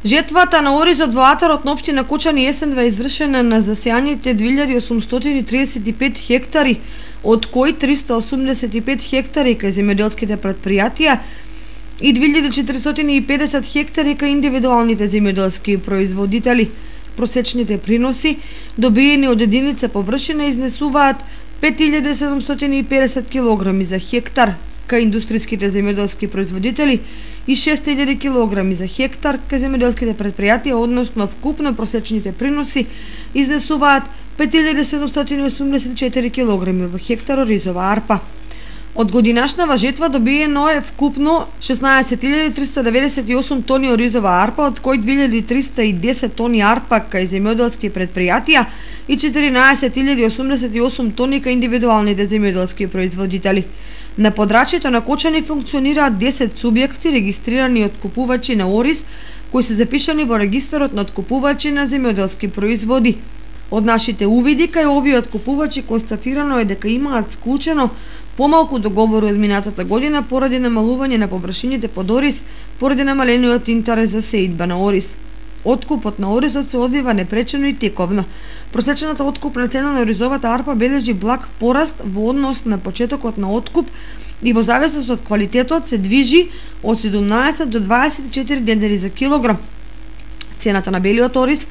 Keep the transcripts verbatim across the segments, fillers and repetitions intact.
Жетвата на оризот во атарот на општина Кочани есенва е извршена на засеаните две илјади осумстотини триесет и пет хектари, од кои триста осумдесет и пет хектари кај земјоделските претпријатија и две илјади четиристотини и педесет хектари кај индивидуалните земјоделски производители. Просечните приноси добиени од единица површина изнесуваат пет илјади седумстотини и педесет килограми за хектар кај индустријските земјоделски производители и шест илјади килограми за хектар кај земјоделските претпријатија, односно вкупно просечните приноси изнесуваат пет илјади седумстотини и осумдесет и четири килограми во хектар оризова арпа. Од годинашнава жетва добиено е вкупно шеснаесет илјади триста деветдесет и осум тони оризова арпа, од кои две илјади триста и десет тони арпа кај земјоделски претпријатија и четиринаесет илјади осумдесет и осум тони кај индивидуалните земјоделски производители. На подрачјето на Кочани функционираат десет субјекти регистрирани откупувачи на ориз, кои се запишани во регистарот на откупувачи на земјоделски производи. Од нашите увиди кај овие откупувачи констатирано е дека имаат склучено помалку договори од минатата година поради намалување на површините под ориз, поради намалениот интерес за сеидба на ориз. Откупот на оризот се одвива непречено и тековно. Просечната откупна цена на оризовата арпа бележи благ пораст во однос на почетокот на откуп и во зависност од квалитетот се движи од седумнаесет до дваесет и четири денари за килограм. Цената на белиот ориз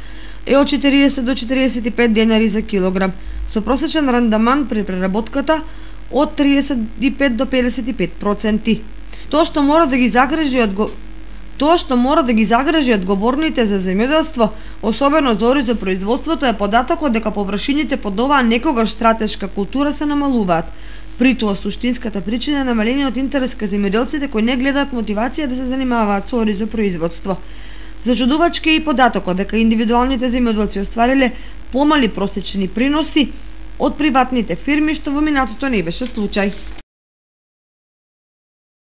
е од четиридесет до четиридесет и пет денари за килограм, со просечен рандаман при преработката од триесет и пет до педесет и пет проценти. Тоа што мора да ги загрижи одго... Тоа што мора да ги загрижи одговорните за земјоделство, особено за оризопроизводството, е податокот дека површините под оваа некогаш стратешка култура се намалуваат. При тоа суштинската причина е намалениот интерес кај земјоделците кои не гледаат мотивација да се занимаваат со оризопроизводство. Зачудувачки е и податокот дека индивидуалните земјоделци оствариле помали просечни приноси од приватните фирми, што во минатото не беше случај.